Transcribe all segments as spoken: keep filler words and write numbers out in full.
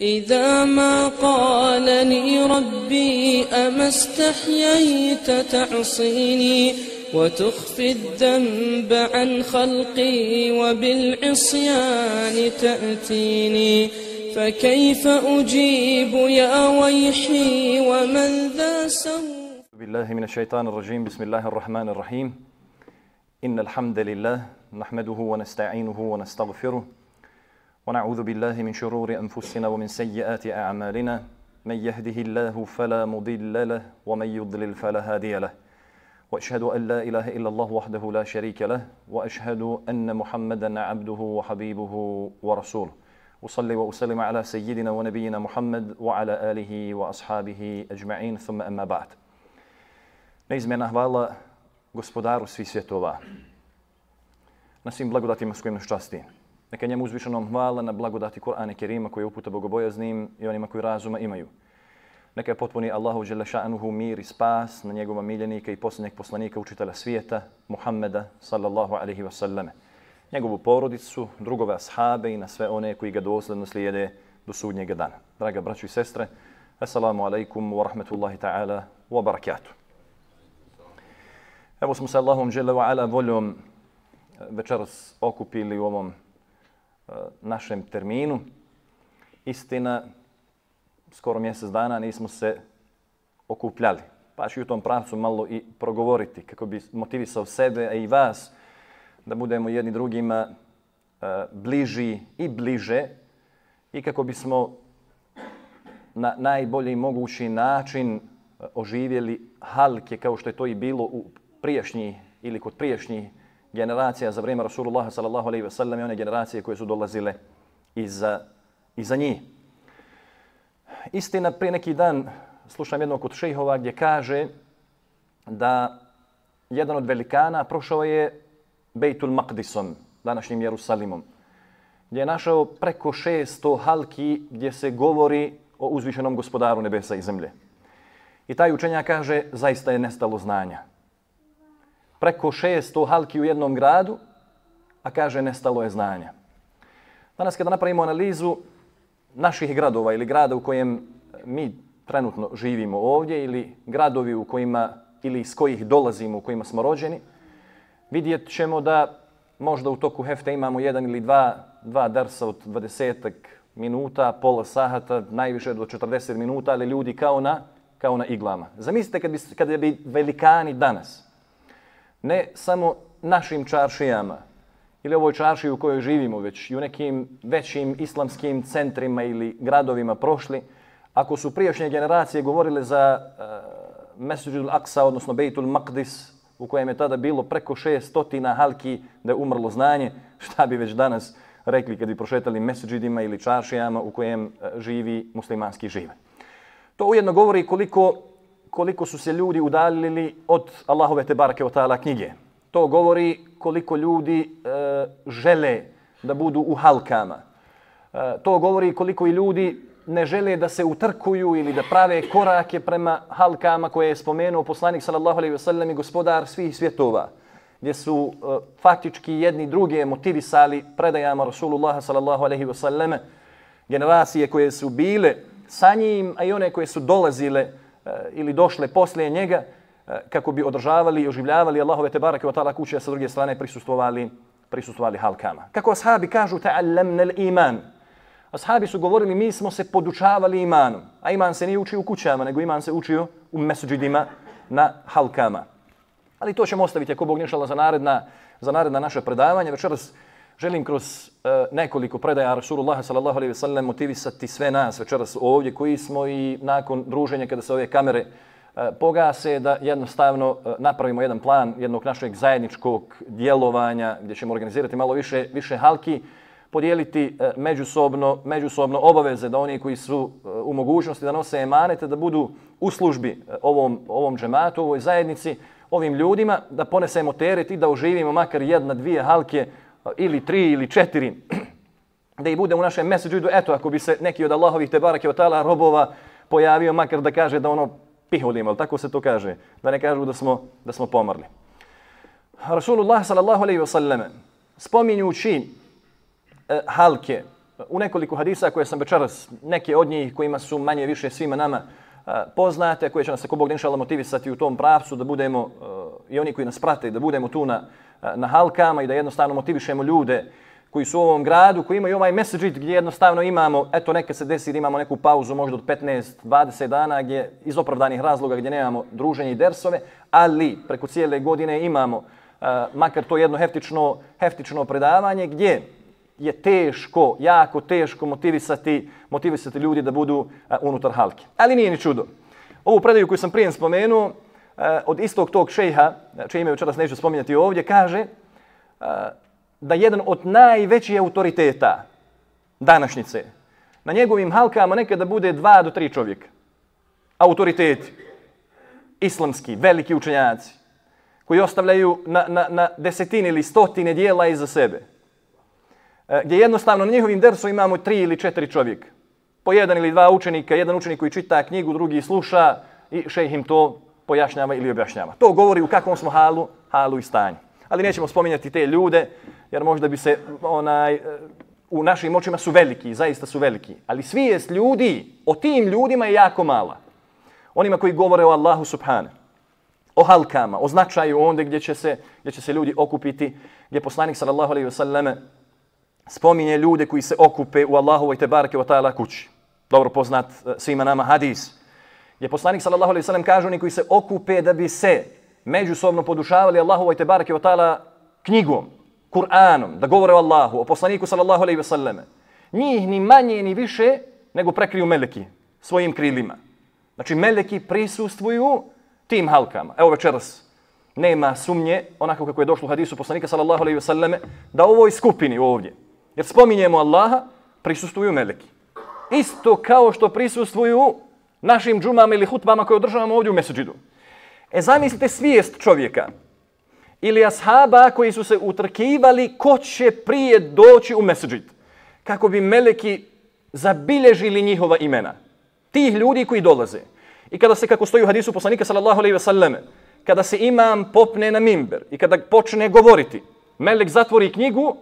إذا ما قالني ربي أما استحييت تعصيني وتخفي الذنب عن خلقي وبالعصيان تأتيني فكيف أجيب يا ويحي ومن ذا سوء. بالله من الشيطان الرجيم. بسم الله الرحمن الرحيم. إن الحمد لله نحمده ونستعينه ونستغفره ونعوذ بالله من شرور أنفسنا ومن سيئات أعمالنا من يهده الله فلا مضل له ومن يضلل فلا هادي له وأشهد أن لا إله إلا الله وحده لا شريك له وأشهد أن محمدا عبده وحبيبه ورسوله وصلي وأسلم على سيدنا ونبينا محمد وعلى آله وأصحابه أجمعين ثم أما بعد. Neizmjerna hvala gospodaru svih svjetova na svim blagodatima s kojim nas časti. Neka njemu uzvišenom hvala na blagodati Kur'ana Kerima koji uputa bogobojaznim i onima koji razuma imaju. Neka je potpuni Allahu dželle šanuhu mir i spas na njegova miljenika i posljednjeg poslanika učitelja svijeta Muhammeda sallallahu alejhi ve selleme, njegovu porodicu, drugove ashabe i na sve one koji ga dosledno slijede do sudnjega dana. Draga braćo i sestre, assalamu alaikum wa rahmatullahi ta'ala wa barakatuh. Evo smo se Allahom dželle wa ala voljom večeras okupili u ovom uh, našem terminu. Istina, skoro mjesec dana nismo se okupljali. Pa ću u tom pravcu malo i progovoriti kako bi motivisao sebe, a i vas, da budemo jedni drugima uh, bliži i bliže i kako bismo na najbolji mogući način uh, oživjeli halke kao što je to i bilo u prijašnji ili kod prijašnjih generacija za vrijeme Rasulullaha sallallahu alejhi ve sellem i one generacije koje su dolazile iza, iza njih. Istina, prije neki dan slušam jednog od šejhova gdje kaže da jedan od velikana prošao je Bejtul Maqdisom, današnjim Jerusalimom, gdje je našao preko šesto halki gdje se govori o uzvišenom gospodaru nebesa i zemlje. I taj učenjak kaže, zaista je nestalo znanja. Preko šesto halki u jednom gradu, a kaže nestalo je znanja. Danas kada napravimo analizu naših gradova ili grada u kojem mi trenutno živimo ovdje ili gradovi u kojima ili iz kojih dolazimo, u kojima smo rođeni, vidjet ćemo da možda u toku hefte imamo jedan ili dva, dva darsa od dvadesetak minuta, pola sahata, najviše do četrdeset minuta, ali ljudi kao na, kao na iglama. Zamislite kad bi, kada bi velikani danas, ne samo našim čaršijama ili ovoj čaršiji u kojoj živimo, već i u nekim većim islamskim centrima ili gradovima prošli, ako su prijašnje generacije govorile za uh, Mesdžidul Aqsa, odnosno Bejtul Maqdis, u kojem je tada bilo preko šestotina halki da je umrlo znanje, šta bi već danas rekli kad bi prošetali mesdžidima ili čaršijama u kojem uh, živi muslimanski žive. To ujedno govori koliko koliko su se ljudi udaljili od Allahove tebareke ve taala knjige. To govori koliko ljudi e, žele da budu u halkama. E, to govori koliko i ljudi ne žele da se utrkuju ili da prave korake prema halkama koje je spomenuo poslanik sallallahu alejhi ve sellem i gospodar svih svjetova, gdje su e, faktički jedni druge motivisali predajama Rasulullaha sallallahu alejhi ve selleme, generacije koje su bile sa njim, a i one koje su dolazile ili došle poslije njega kako bi održavali i oživljavali Allahove tebareke ve taala kuće, a sa druge strane prisustvovali, prisustvovali halkama. Kako ashabi kažu, ta'allamna al-iman. Ashabi su govorili, mi smo se podučavali imanom, a iman se nije učio u kućama, nego iman se učio u mesdžidima na halkama. Ali to ćemo ostaviti ako Bog ne šala za naredna, za naredna naše predavanje. Večeras želim kroz uh, nekoliko predaja Rasulullaha sallallahu alejhi ve sellem motivisati sve nas večeras ovdje koji smo i nakon druženja kada se ove kamere uh, pogase, da jednostavno uh, napravimo jedan plan jednog našeg zajedničkog djelovanja gdje ćemo organizirati malo više, više halki, podijeliti uh, međusobno, međusobno obaveze da oni koji su uh, u mogućnosti da nose emanete da budu u službi uh, ovom, ovom džematu, ovoj zajednici, ovim ljudima, da ponesemo teret i da oživimo makar jedna, dvije halke ili tri ili četiri, da i bude u našem mesdžidu, eto, ako bi se neki od Allahovih tebareke ve taala robova pojavio, makar da kaže da ono pihulimo, ali tako se to kaže, da ne kažu da smo, da smo pomrli. Rasulullah sallallahu alejhi ve sellem spominjući e, halke u nekoliko hadisa koje sam večeras, neke od njih kojima su manje više svima nama poznate, koje će nas ako Bog inšallah motivisati u tom pravcu da budemo i oni koji nas prate, da budemo tu na, na halkama i da jednostavno motivišemo ljude koji su u ovom gradu, koji imaju ovaj mesdžid gdje jednostavno imamo, eto neka se desi da imamo neku pauzu možda od petnaest do dvadeset dana gdje iz opravdanih razloga gdje nemamo druženje i dersove, ali preko cijele godine imamo uh, makar to jedno heftično, heftično predavanje gdje je teško, jako teško motivisati, motivisati ljudi da budu uh, unutar halke. Ali nije ni čudo. Ovu predaju koju sam prije spomenuo, uh, od istog tog šejha, čije ime večeras neću spominjati ovdje, kaže uh, da jedan od najvećih autoriteta današnjice na njegovim halkama nekada bude dva do tri čovjeka. Autoriteti, islamski, veliki učenjaci, koji ostavljaju na, na, na desetine ili stotine dijela iza sebe. E, gdje jednostavno na njihovim dersu imamo tri ili četiri čovjeka. Po jedan ili dva učenika, jedan učenik koji čita knjigu, drugi sluša i šejh im to pojašnjava ili objašnjava. To govori u kakvom smo halu, halu i stanju. Ali nećemo spominjati te ljude, jer možda bi se, onaj, u našim očima su veliki, zaista su veliki. Ali svijest ljudi, o tim ljudima je jako mala. Onima koji govore o Allahu subhane, o halkama, o značaju onda gdje će se, gdje će se ljudi okupiti, gdje poslanik sallallahu alejhi ve selleme spominje ljude koji se okupe u Allahovoj tebareke ve taala kući. Dobro poznat svima nama hadis. Gdje poslanik sallallahu alejhi ve sellem kaže oni koji se okupe da bi se međusobno podušavali Allahovoj tebareke ve taala knjigom, Kur'anom, da govore o Allahu, o poslaniku sallallahu alejhi ve selleme. Njih ni manje ni više nego prekriju meleki svojim krilima. Znači meleki prisustvuju tim halkama. Evo večeras nema sumnje, onako kako je došlo u hadisu poslanika sallallahu alejhi ve selleme, da u ovoj skupini ovdje, jer spominjemo Allaha, prisustvuju meleki. Isto kao što prisustvuju našim džumama ili hutbama koje održavamo ovdje u mesdžidu. E zamislite svijest čovjeka ili ashaba koji su se utrkivali ko će prije doći u mesdžid, kako bi meleki zabilježili njihova imena. Tih ljudi koji dolaze. I kada se, kako stoji u hadisu poslanika sallallahu alejhi ve selleme, kada se imam popne na mimber i kada počne govoriti, melek zatvori knjigu,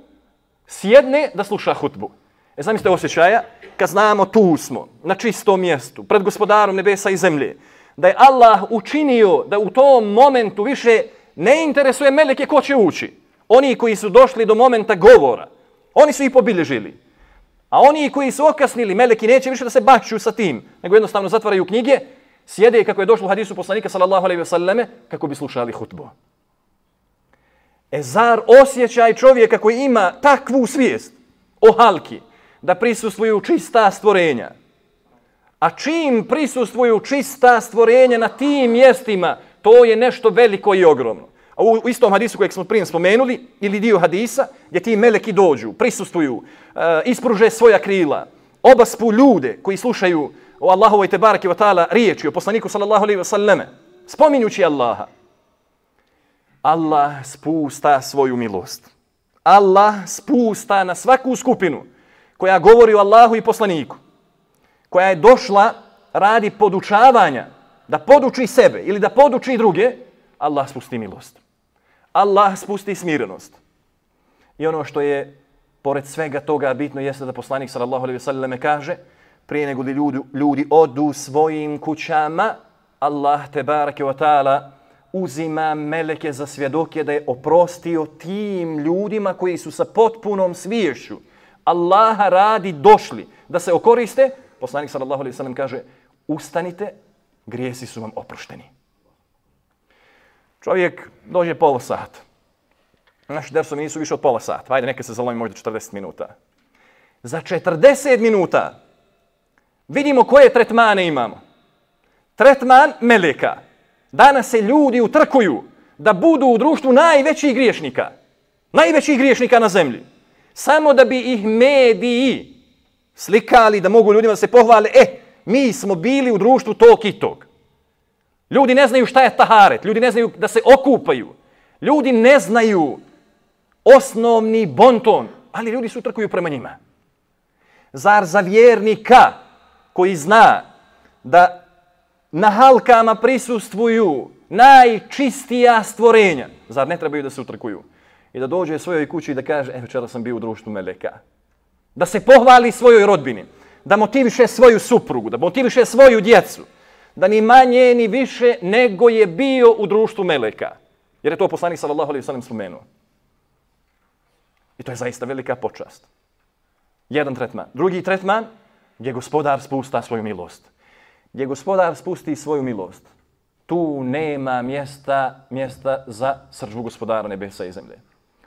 sjedne da sluša hutbu. E zamislite osjećaja kad znamo tu smo, na čistom mjestu, pred gospodarom nebesa i zemlje, da je Allah učinio da u tom momentu više ne interesuje meleke ko će ući. Oni koji su došli do momenta govora, oni su ih pobilježili. A oni koji su okasnili, meleki neće više da se baću sa tim, nego jednostavno zatvaraju knjige, sjede kako je došlo u hadisu poslanika sallallahu alejhi ve selleme, kako bi slušali hutbu. E zar osjećaj čovjeka koji ima takvu svijest o halki, da prisustvuju čista stvorenja, a čim prisustvuju čista stvorenja na tim mjestima, to je nešto veliko i ogromno. A u istom hadisu kojeg smo prije spomenuli, ili dio hadisa, gdje ti meleki dođu, prisustvuju, uh, ispruže svoja krila, obaspu ljude koji slušaju o Allahovoj tebareke ve taala riječi, o poslaniku sallallahu alejhi ve selleme, spominjući Allaha. Allah spusta svoju milost. Allah spusta na svaku skupinu koja govori o Allahu i poslaniku, koja je došla radi podučavanja, da poduči sebe ili da poduči druge, Allah spusti milost. Allah spusti smirenost. I ono što je pored svega toga bitno jeste da poslanik sallallahu alejhi ve selleme kaže, prije nego li ljudi, ljudi odu svojim kućama, Allah tebareke ve taala uzima meleke za svjedoke da je oprostio tim ljudima koji su sa potpunom sviješću Allaha radi došli da se okoriste. Poslanik sallallahu alejhi ve sellem kaže, ustanite, grijesi su vam oprošteni. Čovjek dođe pola sata. Naši dersovi nisu više od pola sata. Ajde, neka se zalomi možda četrdeset minuta. Za četrdeset minuta vidimo koje tretmane imamo. Tretman meleka. Danas se ljudi utrkuju da budu u društvu najvećih griješnika. Najvećih griješnika na zemlji. Samo da bi ih mediji slikali, da mogu ljudima da se pohvale, e, mi smo bili u društvu tog i tog. Ljudi ne znaju šta je taharet, ljudi ne znaju da se okupaju, ljudi ne znaju osnovni bonton, ali ljudi se utrkuju prema njima. Zar za vjernika koji zna da na halkama prisustvuju najčistija stvorenja, zar ne trebaju da se utrkuju? I da dođe svojoj kući i da kaže, e, večera sam bio u društvu meleka. da se pohvali svojoj rodbini, da motiviše svoju suprugu, da motiviše svoju djecu, da ni manje ni više nego je bio u društvu meleka. Jer je to poslanik sallallahu alejhi ve sellem spomenuo. I to je zaista velika počast. Jedan tretman. Drugi tretman, gdje gospodar spusta svoju milost. Gdje gospodar spusti svoju milost. Tu nema mjesta, mjesta za srdžbu gospodara nebesa i zemlje.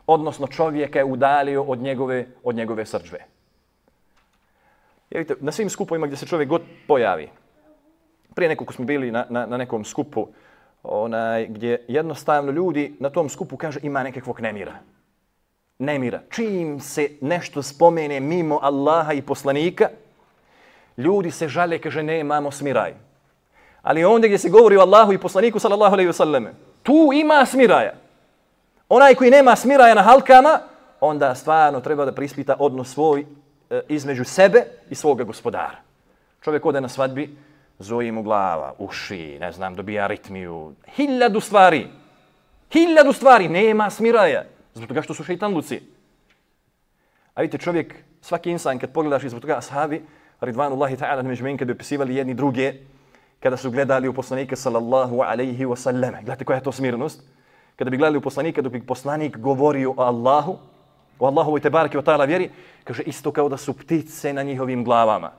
Odnosno čovjeka je udalio od njegove, od njegove srdžbe. Vidite, na svim skupovima gdje se čovjek god pojavi. Prije nekog smo bili na, na, na nekom skupu onaj, gdje jednostavno ljudi na tom skupu kaže ima nekakvog nemira. Nemira. Čim se nešto spomene mimo Allaha i poslanika, ljudi se žale, kaže nemamo smiraj. Ali ondje gdje se govori o Allahu i poslaniku sallallahu alejhi ve selleme, tu ima smiraja. Onaj koji nema smiraja na halkama, onda stvarno treba da prispita odnos svoj e, između sebe i svoga gospodara. Čovjek ode na svadbi, zoji mu glava, uši, ne znam, dobija aritmiju, hiljadu stvari. Hiljadu stvari, nema smiraja. Zbog toga što su šeitanluci. A vidite, čovjek, svaki insan, kad pogledaš izbog toga ashabi, ridvanullahi ta'ala međutim, kad bi opisivali jedni druge, kada su gledali u poslanika sallallahu alejhi ve sellem. Gledajte koja je to smirnost. Kada bi gledali u poslanika, dok bi poslanik govorio o Allahu, o Allahovoj tebareke ve ta'ala vjeri, kaže isto kao da su ptice na njihovim glavama.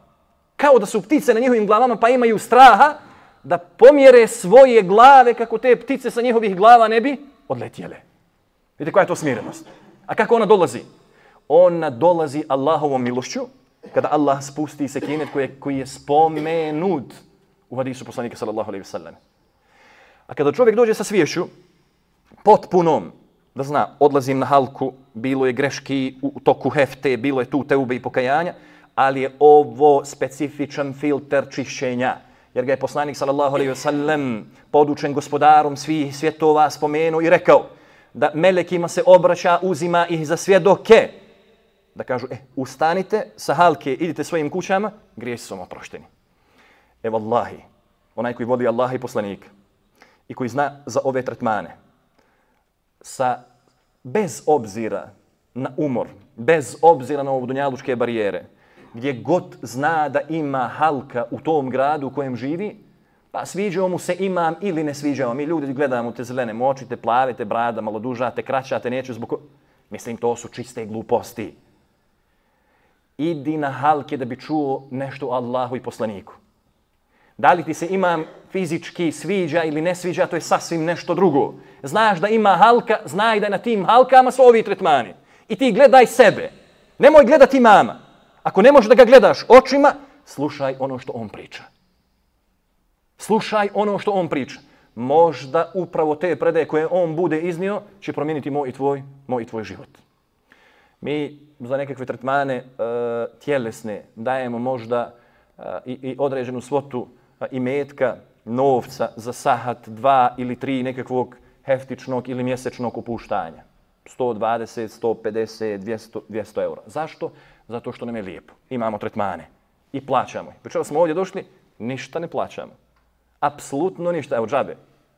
Kao da su ptice na njihovim glavama, pa imaju straha da pomjere svoje glave kako te ptice sa njihovih glava ne bi odletjele. Vidite koja je to smirenost. A kako ona dolazi? Ona dolazi Allahovom milošću, kada Allah spusti sekinet koji je, koji je spomenut u hadisu poslanika sallallahu alejhi ve sellem. A kada čovjek dođe sa sviješću, potpunom, da zna, odlazim na halku, bilo je greški u toku hefte, bilo je tu teube i pokajanja, ali je ovo specifičan filter čišćenja. Jer ga je poslanik sallallahu alejhi ve sellem podučen gospodarom svih svjetova spomenuo i rekao da melekima se obraća, uzima ih za svjedoke. Da kažu, e, ustanite sa halke, idite svojim kućama, grijesi su vam oprošteni. E vallahi, onaj koji voli Allaha i poslanika i koji zna za ove tretmane, sa, bez obzira na umor, bez obzira na ovo dunjalučke barijere, gdje god zna da ima halka u tom gradu u kojem živi, pa sviđao mu se imam ili ne sviđao. Mi ljudi gledamo te zelene moči, te plave, te brada, malo duža, te kraća, te neću zbog... Mislim, to su čiste gluposti. Idi na halke da bi čuo nešto o Allahu i poslaniku. Da li ti se imam fizički sviđa ili ne sviđa, to je sasvim nešto drugo. Znaš da ima halka, znaj da je na tim halkama su ovi tretmani. I ti gledaj sebe. Nemoj gledati imama. Ako ne možeš da ga gledaš očima, slušaj ono što on priča. Slušaj ono što on priča. Možda upravo te predaje koje on bude iznio će promijeniti moj i tvoj, moj i tvoj život. Mi za nekakve tretmane e, tjelesne dajemo možda e, i, i određenu svotu e, imetka, novca za sahat, dva ili tri nekakvog heftičnog ili mjesečnog opuštanja. sto dvadeset, sto pedeset, dvjesto, dvjesto eura. Zašto? Zato što nam je lijepo. Imamo tretmane i plaćamo. Večera smo ovdje došli, ništa ne plaćamo. Apsolutno ništa. Evo džabe.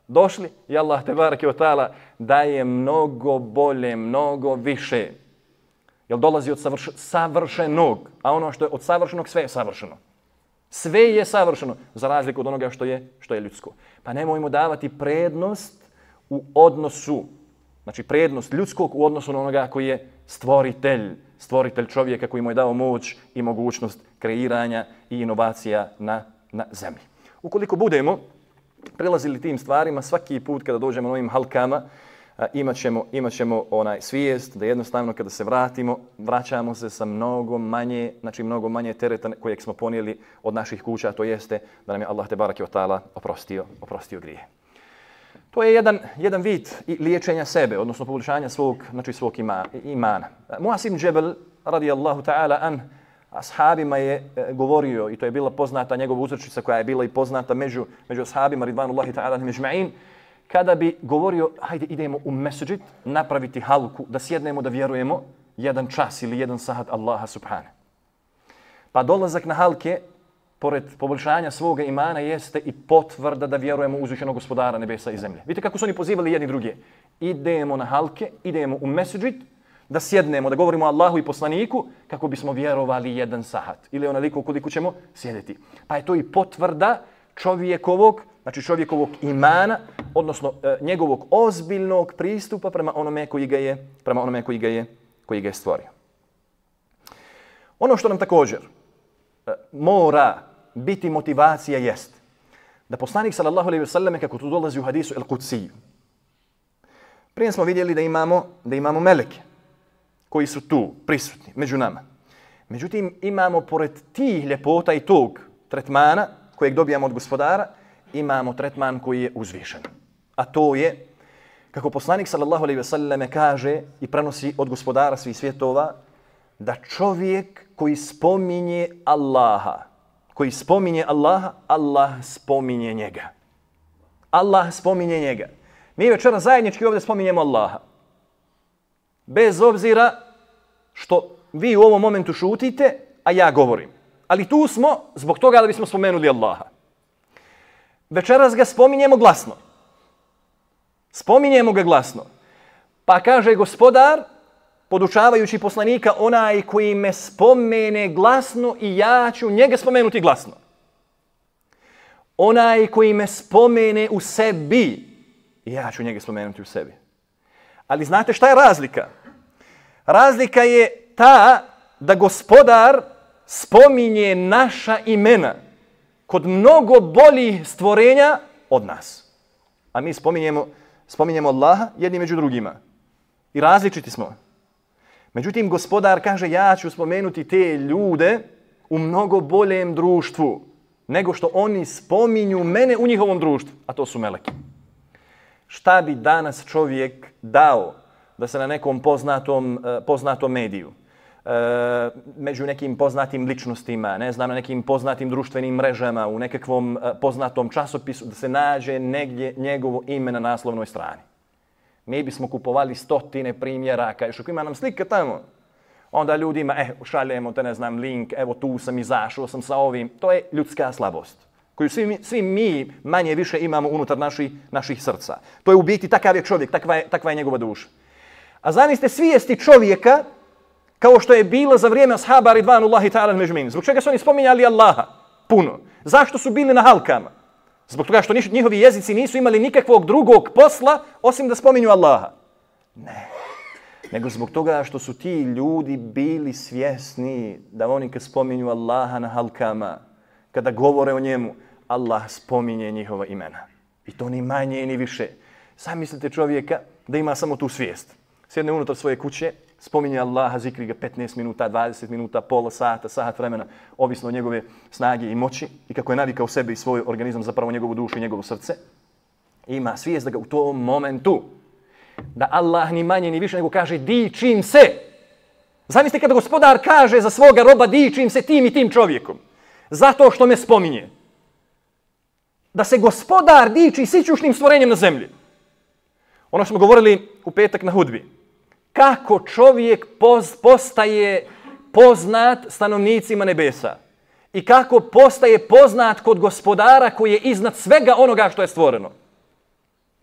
Došli i Allah tebareke ve ta'ala daje mnogo bolje, mnogo više. Jer dolazi od savrš, savršenog, a ono što je od savršenog sve je savršeno. Sve je savršeno, za razliku od onoga što je, što je ljudsko. Pa nemojmo davati prednost u odnosu, znači prednost ljudskog u odnosu na onoga koji je stvoritelj, stvoritelj čovjeka koji mu je dao moć i mogućnost kreiranja i inovacija na, na zemlji. Ukoliko budemo prilazili tim stvarima, svaki put kada dođemo na ovim halkama, imat ćemo, imat ćemo onaj svijest da jednostavno kada se vratimo, vraćamo se sa mnogo manje, znači mnogo manje tereta kojeg smo ponijeli od naših kuća, to jeste da nam je Allah tebareke ve ta'ala oprostio, oprostio grije. To je jedan, jedan vid liječenja sebe, odnosno poboljšanja svog, znači svog ima, imana. Muaz ibn Džebel, radijallahu ta'ala an, ashabima je e, govorio, i to je bila poznata njegova uzrečica koja je bila i poznata među, među ashabima, ridvanullahi ta'ala međma'in, kada bi govorio, hajde idemo u mesdžid, napraviti halku, da sjednemo, da vjerujemo jedan čas ili jedan sahat Allaha subhane. Pa dolazak na halke, pored poboljšanja svoga imana, jeste i potvrda da vjerujemo u uzvišenog gospodara nebesa i zemlje. Vidite kako su oni pozivali jedni druge. Idemo na halke, idemo u mesdžid, Da sjednemo, da govorimo o Allahu i poslaniku kako bismo vjerovali jedan sahat. Ili onoliko koliko ćemo sjediti. Pa je to i potvrda čovjekovog, znači čovjekovog imana, odnosno e, njegovog ozbiljnog pristupa prema onome koji ga je, prema onome koji ga je, koji ga je stvorio. Ono što nam također e, mora biti motivacija jest da poslanik sallallahu alejhi ve selleme, kako to dolazi u hadisu el-Kudsiju, prije smo vidjeli da imamo, da imamo meleke koji su tu prisutni među nama. Međutim, imamo pored tih ljepota i tog tretmana kojeg dobijamo od gospodara, imamo tretman koji je uzvišen. A to je, kako poslanik sallallahu alejhi ve selleme kaže i prenosi od gospodara svih svjetova, da čovjek koji spominje Allaha, koji spominje Allaha, Allah spominje njega. Allah spominje njega. Mi večera zajednički ovdje spominjemo Allaha. Bez obzira što vi u ovom momentu šutite, a ja govorim. Ali tu smo zbog toga da bismo spomenuli Allaha. Večeras ga spominjemo glasno. Spominjemo ga glasno. Pa kaže gospodar, podučavajući poslanika, onaj koji me spomene glasno i ja ću njega spomenuti glasno. Onaj koji me spomene u sebi, ja ću njega spomenuti u sebi. Ali znate šta je razlika? Razlika je ta da gospodar spominje naša imena kod mnogo boljih stvorenja od nas. A mi spominjemo, spominjemo Allaha jedni među drugima. I različiti smo. Međutim, gospodar kaže, ja ću spomenuti te ljude u mnogo boljem društvu nego što oni spominju mene u njihovom društvu, a to su meleki. Šta bi danas čovjek dao da se na nekom poznatom, poznatom mediju, među nekim poznatim ličnostima, ne znam, na nekim poznatim društvenim mrežama, u nekakvom poznatom časopisu, da se nađe negdje njegovo ime na naslovnoj strani? Mi bismo kupovali stotine primjeraka, još ako ima nam slika tamo, onda ljudima, eh, šaljemo te, ne znam, link, evo tu sam izašao sam sa ovim. To je ljudska slabost koju svi mi, svi mi manje više imamo unutar naših, naših srca. To je u biti takav je čovjek, takva je, takva je njegova duša. A zamislite svijesti čovjeka kao što je bilo za vrijeme ashaba ridvanullahi ta'ala međmin. Zbog čega su oni spominjali Allaha puno? Zašto su bili na halkama? Zbog toga što njihovi jezici nisu imali nikakvog drugog posla osim da spominju Allaha. Ne. Nego zbog toga što su ti ljudi bili svjesni da oni kad spominju Allaha na halkama, kada govore o njemu, Allah spominje njihova imena. I to ni manje ni više. Sam mislite čovjeka da ima samo tu svijest. Sjedne unutar svoje kuće, spominje Allaha, zikri ga petnaest minuta, dvadeset minuta, pola sata, sat vremena, ovisno od njegove snage i moći i kako je navikao sebe i svoj organizam, zapravo njegovu dušu i njegovo srce. Ima svijest da ga u tom momentu, da Allah ni manje ni više nego kaže dičim se. Zamislite kada gospodar kaže za svoga roba dičim se tim i tim čovjekom. Zato što me spominje. Da se gospodar diči sićušnim stvorenjem na zemlji. Ono što smo govorili u petak na hudbi. Kako čovjek poz, postaje poznat stanovnicima nebesa. I kako postaje poznat kod gospodara koji je iznad svega onoga što je stvoreno.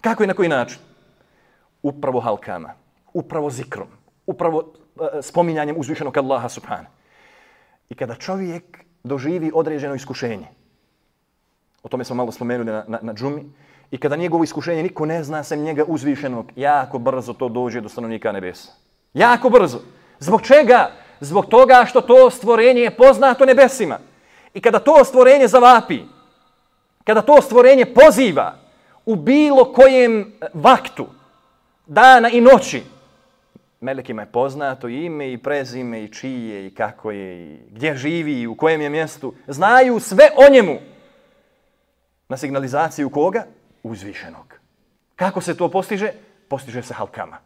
Kako i na koji način? Upravo halkama, upravo zikrom, upravo uh, spominjanjem uzvišenog Allaha subhana. I kada čovjek doživi određeno iskušenje, o tome smo malo spomenuli na, na, na džumi, i kada njegovo iskušenje niko ne zna sem njega uzvišenog, jako brzo to dođe do stanovnika nebesa. Jako brzo. Zbog čega? Zbog toga što to stvorenje je poznato nebesima. I kada to stvorenje zavapi, kada to stvorenje poziva u bilo kojem vaktu, dana i noći, melekima je poznato ime i prezime i čije i kako je i gdje živi i u kojem je mjestu. Znaju sve o njemu. Na signalizaciju koga? Uzvišenog. Kako se to postiže? Postiže se halkama.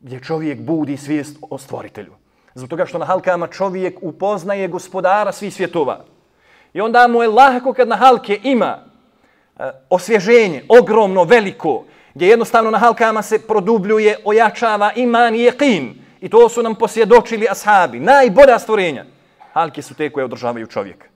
Gdje čovjek budi svijest o stvoritelju. Zbog toga što na halkama čovjek upoznaje gospodara svih svjetova. I onda mu je lako kad na halke ima uh, osvježenje, ogromno, veliko, gdje jednostavno na halkama se produbljuje, ojačava iman i jeqin. I to su nam posvjedočili ashabi. Najbolja stvorenja. Halke su te koje održavaju čovjeka.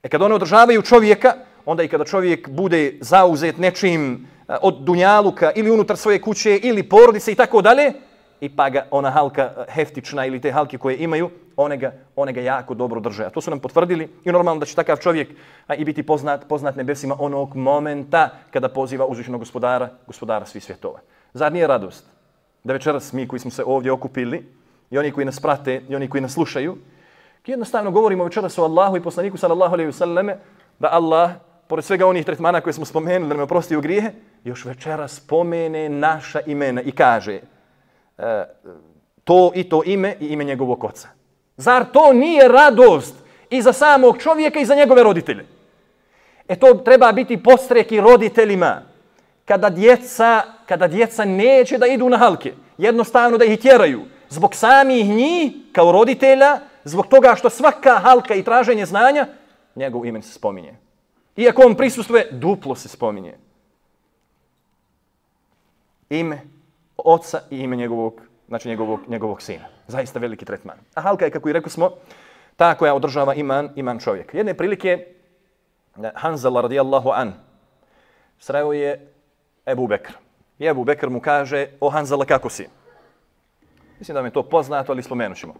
E kad one održavaju čovjeka, onda i kada čovjek bude zauzet nečim od dunjaluka ili unutar svoje kuće ili porodice i tako dalje, i pa ga ona halka heftična ili te halke koje imaju, one ga, one ga jako dobro drže. A to su nam potvrdili i normalno da će takav čovjek a, i biti poznat, poznat nebesima onog momenta kada poziva uzvišenog gospodara, gospodara svih svjetova. Zar nije radost da večeras mi koji smo se ovdje okupili i oni koji nas prate i oni koji nas slušaju, jednostavno govorimo večeras o Allahu i poslaniku sallallahu alejhi ve selleme, da Allah, pored svega onih tretmana koje smo spomenuli, da nam oprosti u grijehe, još večeras spomene naša imena i kaže e, to i to ime i ime njegovog oca. Zar to nije radost i za samog čovjeka i za njegove roditelje? E to treba biti podstrek i roditeljima. Kada djeca, kada djeca neće da idu na halke, jednostavno da ih tjeraju, zbog samih njih kao roditelja, zbog toga što svaka halka i traženje znanja, njegov imen se spominje. Iako on prisustvuje, duplo se spominje. Ime oca i ime njegovog, znači njegovog, njegovog sina. Zaista veliki tretman. A halka je, kako i rekli smo, ta koja održava iman, iman čovjeka. Jedne prilike, Hanzala radijallahu an, sreo je Ebu Bekr. I Ebu Bekr mu kaže, o Hanzala, kako si? Mislim da mi je to poznato, ali spomenut ćemo.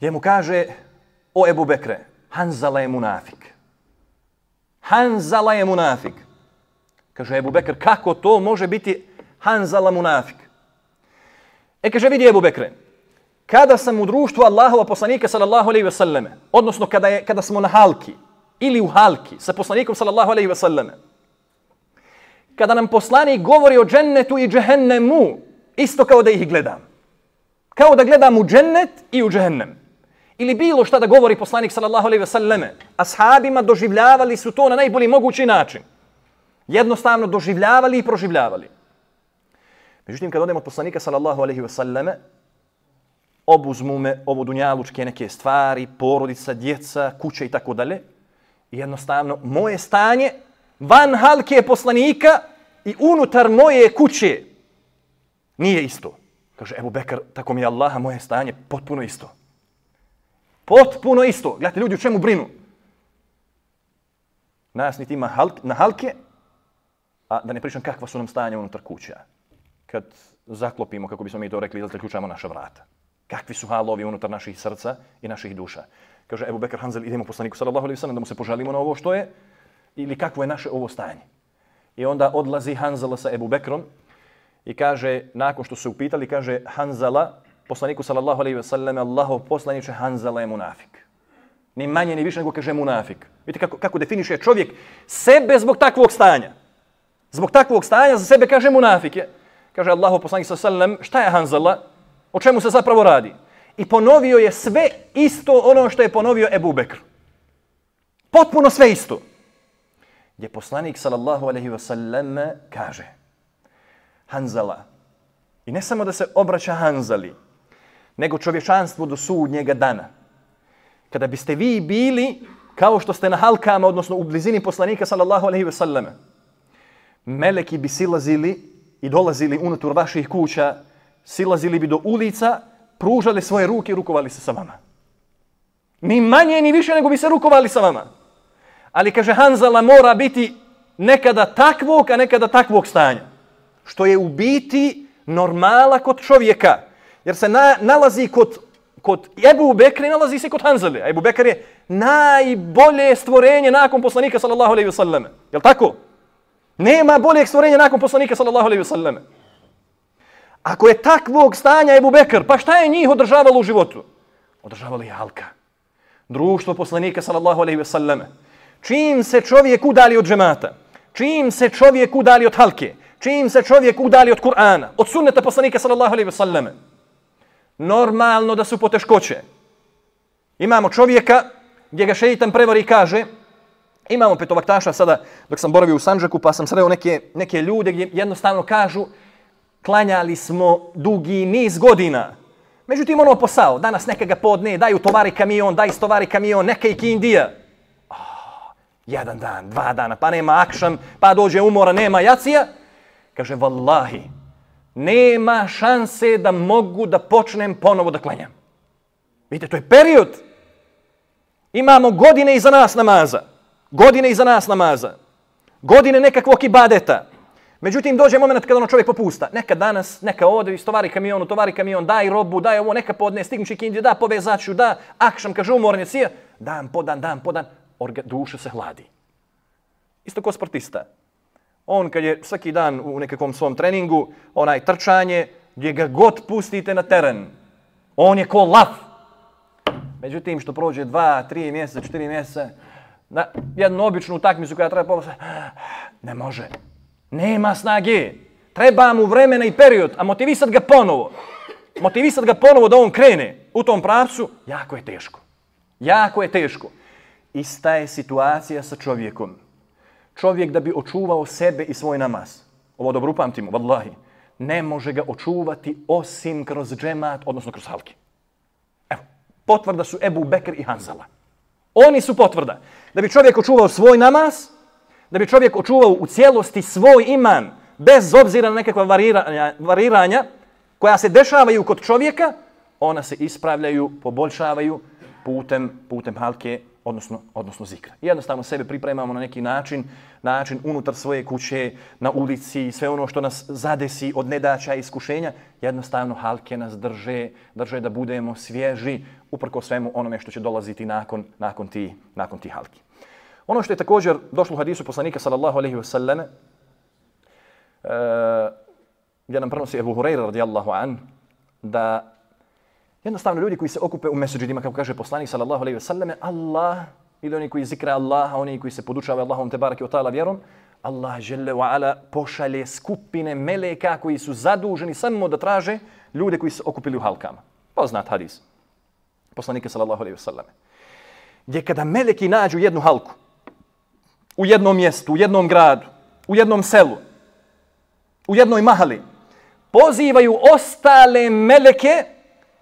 Je mu kaže, o Ebu Bekre, Hanzala je munafik. Hanzala je munafik. Kaže Ebu Bekr, kako to može biti Hanzala munafik? E kaže, vidi Ebu Bekre, kada sam u društvu Allahova poslanika sallallahu alejhi ve selleme, odnosno kada, je, kada smo na halki ili u halki sa poslanikom sallallahu alejhi ve selleme, kada nam poslanik govori o džennetu i džehennemu, isto kao da ih gledam. Kao da gledam u džennet i u džehennem. Ili bilo šta da govori poslanik sallallahu alejhi ve selleme, ashabima doživljavali su to na najbolji mogući način. Jednostavno doživljavali i proživljavali. Međutim, kad odemo od poslanika sallallahu alejhi ve selleme, obuzmu me ovo dunjalučke neke stvari, porodica, djeca, kuće i tako dalje. Jednostavno, moje stanje van halke poslanika i unutar moje kuće nije isto. Kaže Ebu Bekr, tako mi je Allaha, moje stanje potpuno isto. Potpuno isto. Gledajte, ljudi u čemu brinu? Nas niti ima halk, na halke, a da ne pričam kakva su nam stanja unutar kuća. Kad zaklopimo, kako bismo mi to rekli, da zaključamo naša vrata. Kakvi su halovi unutar naših srca i naših duša. Kaže Ebu Bekr Hanzel, idemo poslaniku sallallahu alejhi ve sellem da mu se požalimo na ovo što je ili kakvo je naše ovo stanje. I onda odlazi Hanzala sa Ebu Bekrom i kaže, nakon što su se upitali, kaže Hanzala, poslaniku sallallahu alejhi ve sellem, Allahov poslaniče, Hanzala je munafik. Ni manje ni više nego kaže munafik. Vidite kako, kako definiše čovjek sebe zbog takvog stanja. Zbog takvog stanja za sebe kaže munafik je. Kaže Allahov poslanik sallallahu alejhi ve sellem, šta je Hanzala? O čemu se zapravo radi? I ponovio je sve isto ono što je ponovio Ebu Bekr. Potpuno sve isto. Gdje poslanik sallallahu alejhi ve sellem kaže Hanzala, i ne samo da se obraća Hanzali, nego čovječanstvu do sudnjega dana. Kada biste vi bili kao što ste na halkama, odnosno u blizini poslanika sallallahu alejhi ve sellem, meleki bi silazili i dolazili unutar vaših kuća, silazili bi do ulica, pružali svoje ruke i rukovali se sa vama. Ni manje ni više nego bi se rukovali sa vama. Ali kaže Hanzala mora biti nekada takvog, a nekada takvog stanja. Što je u biti normala kod čovjeka. Jer se na, nalazi kod, kod Ebu Bekra i nalazi se kod Hanzale. A Ebu Bekr je najbolje stvorenje nakon poslanika sallallahu alejhi ve sellem. Jel' tako? Nema boljeg stvorenja nakon poslanika sallallahu alejhi ve sellem. Ako je takvog stanja Ebu Bekr, pa šta je njih održavalo u životu? Održavalo je halka. Društvo poslanika sallallahu alejhi ve sellem. Čim se čovjek udali od džemata, čim se čovjek udali od halke, čim se čovjek udali od Kur'ana, od sunneta poslanika sallallahu alejhi ve sellem, normalno da su poteškoće. Imamo čovjeka gdje ga šeitan prevari i kaže, imamo petovaktaša sada dok sam boravio u Sandžaku pa sam sreo neke, neke ljude gdje jednostavno kažu klanjali smo dugi niz godina. Međutim, ono posao, danas neka ga podne, daj utovari kamion, daj istovari kamion, neka i kindija. Oh, jedan dan, dva dana, pa nema akšam, pa dođe umora, nema jacija. Kaže, vallahi, nema šanse da mogu da počnem ponovo da klanjam. Vidite, to je period. Imamo godine iza nas namaza. Godine iza nas namaza. Godine nekakvog ibadeta. Međutim, dođe moment kada ono čovjek popusta. Neka danas, neka ode, istovari kamion, tovari kamion, daj robu, daj ovo, neka podne, stignući kindiju, da povezaću, da, akšam, kaže umornje, sija, dan po dan, dan po dan, orga, duša se hladi. Isto ko sportista. On kad je svaki dan u nekakvom svom treningu, onaj trčanje, gdje ga god pustite na teren, on je ko lav. Međutim, što prođe dva, tri mjeseca, četiri mjeseca, na jednu običnu utakmicu koja treba povesti, ne može. Nema snage. Treba mu vremena i period, a motivisat ga ponovo. Motivisat ga ponovo da on krene u tom pravcu, jako je teško. Jako je teško. Ista je situacija sa čovjekom. Čovjek da bi očuvao sebe i svoj namaz, ovo dobro upamtimo, vallahi, ne može ga očuvati osim kroz džemat, odnosno kroz halki. Evo, potvrda su Ebu Bekr i Hanzala. Oni su potvrda. Da bi čovjek očuvao svoj namaz, da bi čovjek očuvao u cijelosti svoj iman, bez obzira na nekakva variranja, variranja koja se dešavaju kod čovjeka, ona se ispravljaju, poboljšavaju putem, putem halke, odnosno, odnosno zikra. Jednostavno sebe pripremamo na neki način, način unutar svoje kuće, na ulici, sve ono što nas zadesi od nedaća i iskušenja, jednostavno halke nas drže, drže da budemo svježi uprko svemu onome što će dolaziti nakon, nakon ti, nakon ti halki. Ono što je također došlo u hadisu poslanika sallallahu alejhi ve selleme, uh, gdje nam prenosi Ebu Hurajra radijallahu an, da jednostavno ljudi koji se okupe u mesdžidima, kako kaže poslanik sallallahu alejhi ve selleme, Allah, ili oni koji zikra Allaha, oni koji se podučavaju Allahom te bareke ve taala vjerom, Allah dželle ve ala pošalje skupine meleka koji su zaduženi samo da traže ljude koji se okupili u halkama. Poznat hadis poslanika sallallahu alejhi ve selleme. Gdje kada meleki nađu jednu halku, u jednom mjestu, u jednom gradu, u jednom selu, u jednoj mahali, pozivaju ostale meleke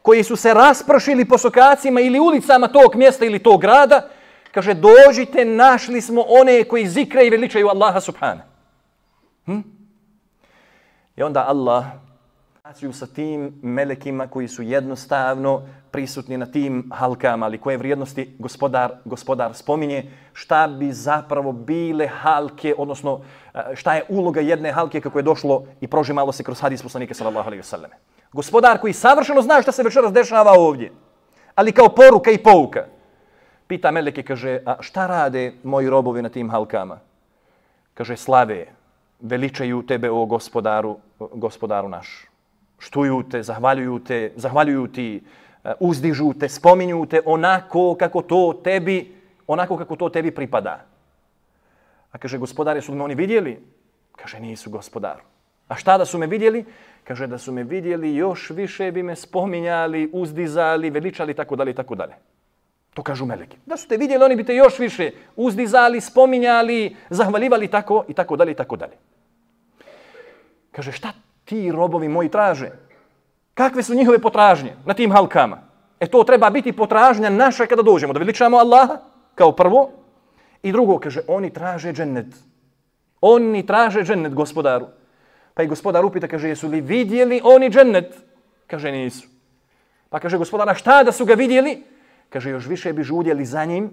koji su se raspršili po sokacima ili ulicama tog mjesta ili tog grada, kaže, dođite, našli smo one koji zikre i veličaju Allaha subhana. Hm? I onda Allah sa tim melekima koji su jednostavno prisutni na tim halkama, ali koje vrijednosti gospodar, gospodar spominje, šta bi zapravo bile halke, odnosno šta je uloga jedne halke kako je došlo i prožimalo se kroz hadis poslanika sallallahu alejhi ve selleme. Gospodar koji savršeno zna šta se večeras dešava ovdje, ali kao poruka i pouka. Pita meleke, kaže, a šta rade moji robovi na tim halkama? Kaže, slave, veličaju tebe, o gospodaru, gospodaru naš. Štuju te, zahvaljuju te, zahvaljuju ti, uzdižu te, spominju te onako kako to tebi, onako kako to tebi pripada. A kaže, gospodari, su me oni vidjeli? Kaže, nisu, gospodaru. A šta da su me vidjeli? Kaže, da su me vidjeli, još više bi me spominjali, uzdizali, veličali, tako dalje, tako dalje. To kažu meleki. Da su te vidjeli, oni bi te još više uzdizali, spominjali, zahvaljivali, tako i tako dalje, i tako dalje. Kaže, šta ti robovi moji traže? Kakve su njihove potražnje na tim halkama? E to treba biti potražnja naša kada dođemo, da veličamo Allaha kao prvo. I drugo, kaže, oni traže džennet. Oni traže džennet, gospodaru. Pa i gospodar upita, kaže, jesu li vidjeli oni džennet? Kaže, nisu. Pa kaže, gospodara, šta da su ga vidjeli? Kaže, još više bi žudjeli za njim,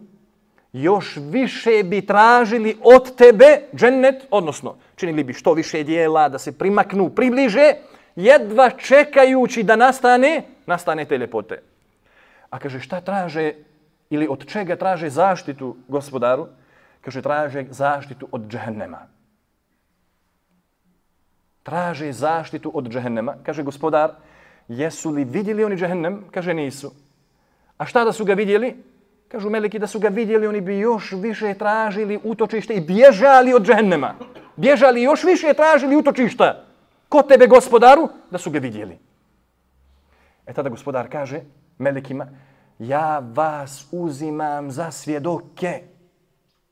još više bi tražili od tebe džennet, odnosno činili bi što više dijela da se primaknu, približe, jedva čekajući da nastane, nastane te ljepote. A kaže, šta traže ili od čega traže zaštitu, gospodaru? Kaže, traže zaštitu od džehennema. Traže zaštitu od džehennema. Kaže, gospodar, jesu li vidjeli oni džehennem? Kaže, nisu. A šta da su ga vidjeli? Kažu meleki, da su ga vidjeli, oni bi još više tražili utočište i bježali od džehennema. Bježali još više tražili utočišta. Kod tebe, gospodaru, da su ga vidjeli. E tada gospodar kaže melekima, ja vas uzimam za svjedoke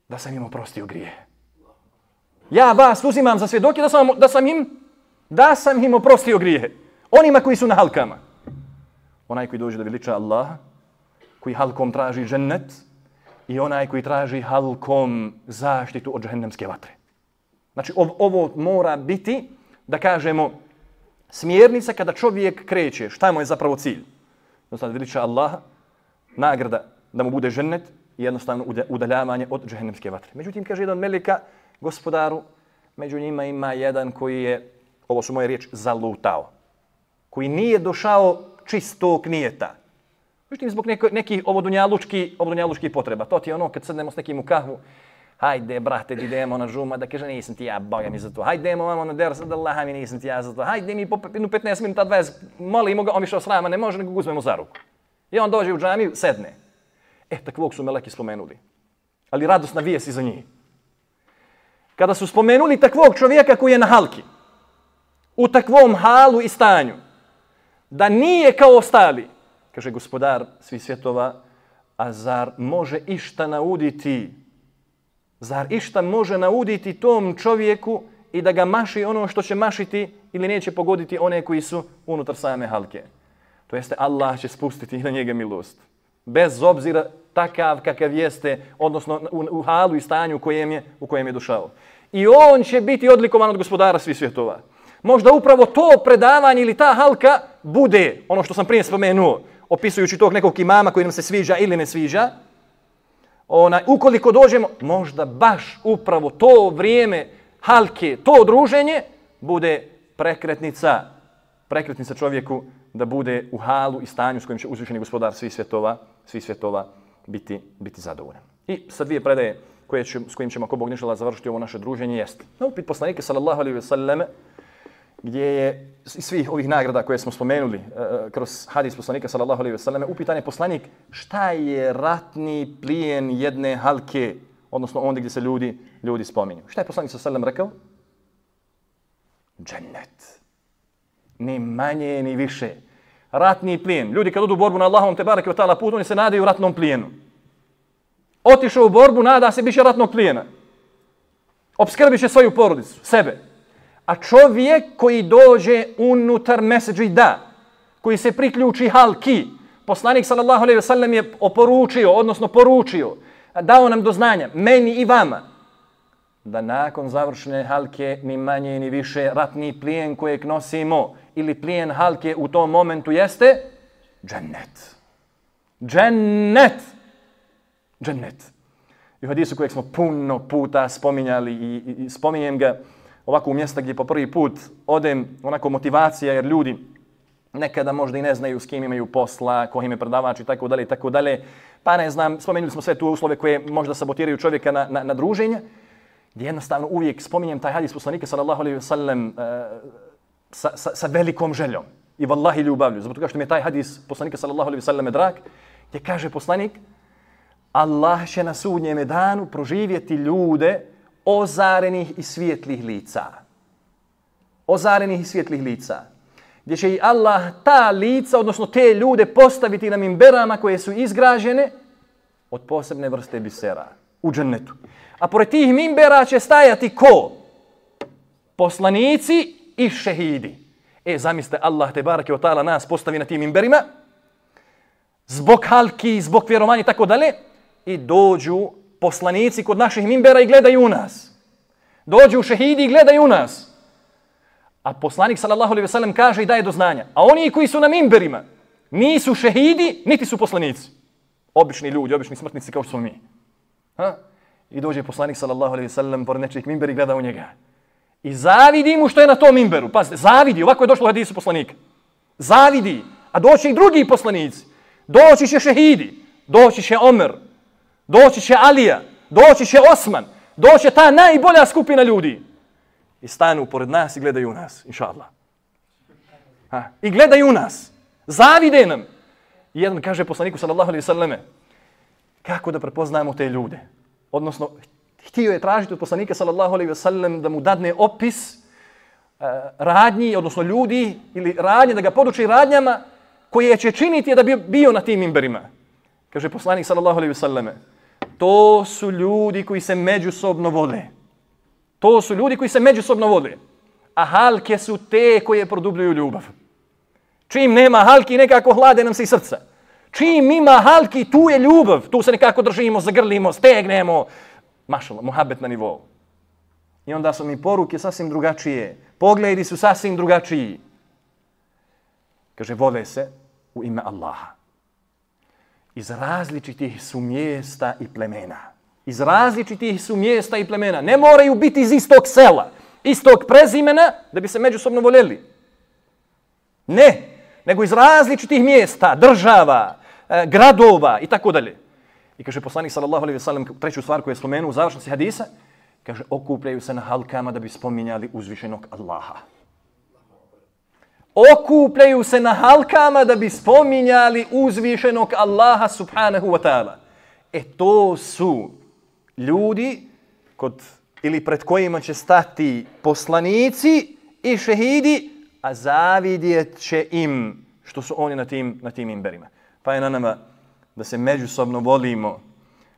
da sam im oprostio grije. Ja vas uzimam za svjedoke da sam, da sam im da sam im oprostio grije. Onima koji su na halkama. Onaj koji dođe da veliča Allaha, koji halkom traži džennet i onaj koji traži halkom zaštitu od džehennemske vatre. Znači, ov, ovo mora biti, da kažemo, smjernica kada čovjek kreće. Šta mu je zapravo cilj? Jednostavno, veliča Allaha, nagrada da mu bude džennet i jednostavno udaljavanje od džehennemske vatre. Međutim, kaže jedan meleka, gospodaru, Među njima ima jedan koji je, ovo su moje riječi, zalutao. Koji nije došao čistog nijeta. Međutim, zbog neko, nekih ovodunjalučkih ovodunjalučki potreba. To ti je ono kad sednemo s nekim u kahvu. Hajde, brate, idemo na žuma, da kaže nisam ti ja, boga mi za to. Hajde, idemo vamo na ders, da Allaha mi nisam ti ja za to. Hajde mi po petnaest minuta, dvadeset, molimo ga, on išao s nama, ne može, nego ga uzmemo za ruku. I on dođe u džamiju, sedne. E, takvog su meleki spomenuli. Ali radosna vijest iza njih. Kada su spomenuli takvog čovjeka koji je na halki, u takvom halu i stanju, da nije kao ostali, kaže gospodar svih svjetova, a zar može išta nauditi, zar išta može nauditi tom čovjeku i da ga maši ono što će mašiti ili neće pogoditi one koji su unutar same halke. To jeste, Allah će spustiti na njega milost. Bez obzira takav kakav jeste, odnosno u, u halu i stanju u kojem je, u kojem je došao. I on će biti odlikovan od gospodara svih svjetova. Možda upravo to predavanje ili ta halka bude, ono što sam prije spomenuo, opisujući tog nekog imama koji nam se sviđa ili ne sviđa, ona, ukoliko dođemo, možda baš upravo to vrijeme halke, to druženje, bude prekretnica, prekretnica čovjeku da bude u halu i stanju s kojim će uzvišeni gospodar svih svjetova, svih svjetova biti, biti zadovoljan. I sa dvije predaje koje će, s kojim ćemo, ako Bog ne žela, završiti ovo naše druženje, jest na upit poslanika sallallahu alejhi ve selleme, gdje je iz svih ovih nagrada koje smo spomenuli uh, kroz hadis poslanika sallallahu alejhi ve selleme, upitan je poslanik šta je ratni plijen jedne halke, odnosno ondje gdje se ljudi, ljudi spominju. Šta je poslanik sallallahu alejhi ve sellem rekao? Džennet. Ni manje, ni više. Ratni plijen. Ljudi kad odu u borbu na Allahovom te bareke ve taala put, oni se nadaju ratnom plijenu. Otišao u borbu, nada se biće ratnog plijena. Opskrbit će svoju porodicu, sebe. A čovjek koji dođe unutar mesedžida, koji se priključi halki, poslanik sallallahu alejhi ve sellem je oporučio, odnosno poručio, dao nam do znanja, meni i vama, da nakon završene halke ni manje ni više ratni plijen kojeg nosimo ili plijen halke u tom momentu jeste džennet. Džennet. Džennet. I u hadisu kojeg smo puno puta spominjali i, i, i spominjem ga ovako u mjesta gdje po prvi put odem, onako motivacija, jer ljudi nekada možda i ne znaju s kim imaju posla, ko im je predavač i tako dalje i tako dalje. Pa ne znam, spomenuli smo sve tu uslove koje možda sabotiraju čovjeka na, na, na druženje, gdje jednostavno uvijek spominjem taj hadis poslanika sallallahu alejhi ve sellem uh, sa, sa, sa velikom željom i vallahi ljubavlju. Zbog toga što mi je taj hadis poslanika sallallahu alejhi ve sellem drag, gdje kaže poslanik, Allah će na sudnjem danu proživjeti ljude ozarenih i svijetlih lica. Ozarenih i svijetlih lica. Gdje će i Allah ta lica, odnosno te ljude postaviti na mimberama koje su izgrađene od posebne vrste bisera u džennetu. A pored tih mimbera će stajati ko? Poslanici i šehidi. E, zamislite, Allah te barake o ta'ala nas postavi na tim mimberima zbog halki, zbog vjerovanja i tako dalje i dođu poslanici kod naših mimbera i gledaju u nas. Dođu šehidi i gledaju u nas. A poslanik sallallahu alejhi ve sellem kaže i daje do znanja. A oni koji su na mimberima nisu šehidi, niti su poslanici. Obični ljudi, obični smrtnici kao što smo mi. Ha? I dođe poslanik sallallahu alejhi ve sellem pored nečijeg mimbera i gleda u njega. I zavidi mu što je na tom mimberu. Pazite, zavidi, ovako je došlo u hadisu poslanika. Zavidi, a doći i drugi poslanici. Doći će šehidi, doći će Omer, doći će Alija, doći će Osman, doći će ta najbolja skupina ljudi. I stanu pored nas i gledaju u nas, inša Allah. Ha? I gledaju u nas. Zavide nam. I jedan kaže poslaniku sallallahu alejhi ve selleme, kako da prepoznamo te ljude? Odnosno, htio je tražiti od poslanika sallallahu alejhi ve sellem da mu dadne opis uh, radnji, odnosno ljudi ili radnje, da ga poduči radnjama koje će činiti da bi bio na tim mimberima. Kaže poslanik sallallahu alejhi ve selleme, to su ljudi koji se međusobno vole. To su ljudi koji se međusobno vole. A halke su te koje produbljuju ljubav. Čim nema halki, nekako hlade nam se i srca. Čim ima halki, tu je ljubav. Tu se nekako držimo, zagrlimo, stegnemo. Mašallah, muhabet na nivou. I onda su mi poruke sasvim drugačije. Pogledi su sasvim drugačiji. Kaže, vole se u ime Allaha. Iz različitih su mjesta i plemena. Iz različitih su mjesta i plemena. Ne moraju biti iz istog sela. istog prezimena da bi se međusobno voljeli. Ne, nego iz različitih mjesta, država, e, gradova i tako dalje. I kaže poslanik sallallahu alejhi ve sellem treću stvar koju je spomenuo u završnosti hadisa, kaže okupljaju se na halkama da bi spominjali uzvišenog Allaha. Okupljaju se na halkama da bi spominjali uzvišenog Allaha subhanahu wa ta'ala. E to su ljudi kod, ili pred kojima će stati poslanici i šehidi, a zavidjet će im što su oni na tim, na tim imberima. Pa je na nama da se međusobno volimo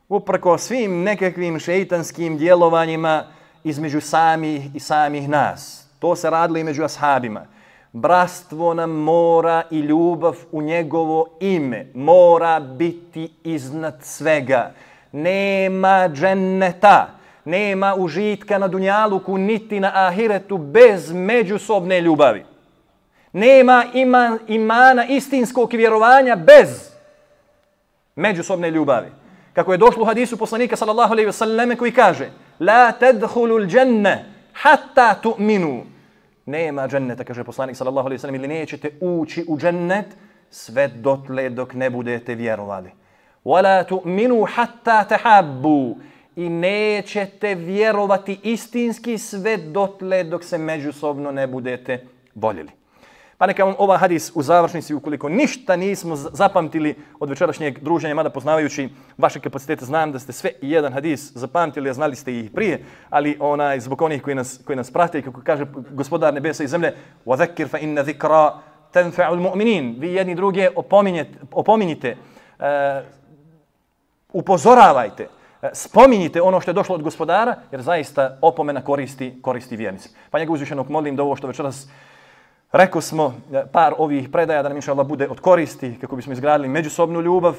uprko svim nekakvim šeitanskim djelovanjima između samih i samih nas. To se radilo i među ashabima. Bratstvo nam mora i ljubav u njegovo ime mora biti iznad svega. Nema dženneta, nema užitka na dunjaluku niti na ahiretu bez međusobne ljubavi. Nema ima, imana istinskog vjerovanja bez međusobne ljubavi. Kako je došlo u hadisu poslanika sallallahu alejhi ve selleme koji kaže: "La tadkhulul dženne hatta tu'minu." Nema dženneta, kaže poslanik sallallahu alejhi ve sellem, ili nećete ući u džennet sve dotle dok ne budete vjerovali. "Wala tu'minu hatta tahabbu." I nećete vjerovati istinski sve dotle dok se međusobno ne budete voljeli. Pa neka vam ova hadis u završnici, ukoliko ništa nismo zapamtili od večerašnjeg druženja, mada poznavajući vaše kapacitete, znam da ste sve i jedan hadis zapamtili, a znali ste ih prije, ali onaj, zbog onih koji nas, koji nas prate, kako kaže Gospodar nebesa i zemlje, وَذَكِّرْ فَإِنَّ ذِكْرَ تَنْفَعُ الْمُؤْمِنِينَ. Vi jedni druge opominjite, uh, upozoravajte, uh, spominjite ono što je došlo od Gospodara, jer zaista opomena koristi, koristi vjernici. Pa njega uzvišenog molim da ovo što večeras rekao smo par ovih predaja da nam inša Allah bude od koristi, kako bismo izgradili međusobnu ljubav,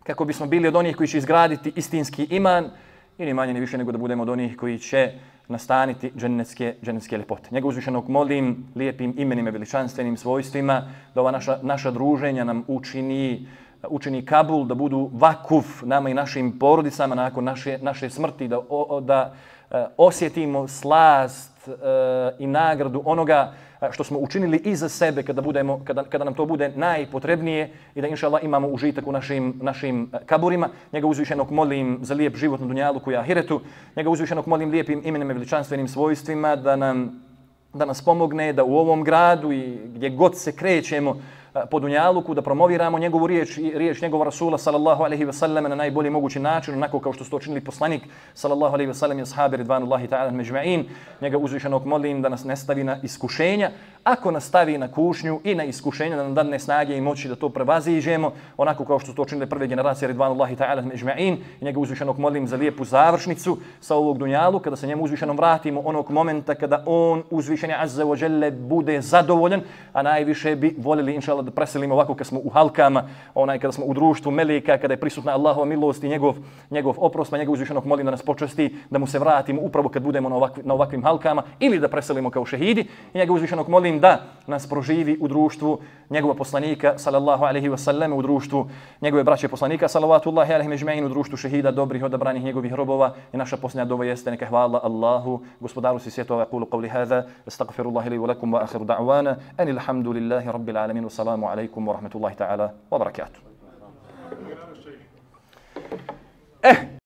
kako bismo bili od onih koji će izgraditi istinski iman i ni manje ni više nego da budemo od onih koji će nastaniti džennetske, džennetske ljepote. Njega uzvišenog molim lijepim imenima, veličanstvenim svojstvima da ova naša, naša druženja nam učini, učini Kabul, da budu vakuf nama i našim porodicama nakon naše, naše smrti, da, o, da uh, osjetimo slast uh, i nagradu onoga što smo učinili i za sebe kada, budemo, kada, kada nam to bude najpotrebnije i da inša Allah imamo užitak u našim, našim kaburima. Njega uzvišenog molim za lijep život na dunjaluku i ahiretu. Njega uzvišenog molim lijepim imenima i veličanstvenim svojstvima da nam, da nas pomogne da u ovom gradu i gdje god se krećemo po dunjaluku, da promoviramo njegovu riječ i riječ njegova Rasula sallallahu alejhi ve sellem na najbolji mogući način, onako kao što su to činili poslanik sallallahu alejhi ve sellem i ashabi ridvanullahi ta'ala međma'in. Njega uzvišenog molim da nas ne stavi na iskušenja. Ako nas stavi na kušnju i na iskušenja, da nam dadne snage i moći da to prevaziđemo, onako kao što su to činili prve generacije ridvanullahi ta'ala međma'in. I njega uzvišenog molim za lijepu završnicu sa ovog dunjalu, kada se njemu uzvišenom vratimo onog momenta kada on uzvišeni azza wa jalla bude zadovoljan, a najviše bi voljeli inšallah da preselimo ovako kad smo u halkama, onaj kada smo u društvu meleka, kada je prisutna Allahova milost i njegov, njegov oprost, pa njega uzvišenog molim da nas počasti, da mu se vratimo upravo kad budemo na, ovakvi, na ovakvim halkama, ili da preselimo kao šehidi. I njega uzvišenog molim da nas proživi u društvu njegova poslanika sallallahu alejhi ve sellem, u društvu njegove braće poslanika salavatullahi alejhi međma'in, u društvu šehida dobrih odabranih njegovih robova. I naša posljednja dova jeste neka hvala Allahu, gospodaru si svjetova, kulu qavli hada, astagfirullahi li wa lakum wa akhiru da'wana, ani alhamdulillahi rabbil alamin, wa salamu alaikum wa rahmatullahi ta'ala wa barakatuh. Eh,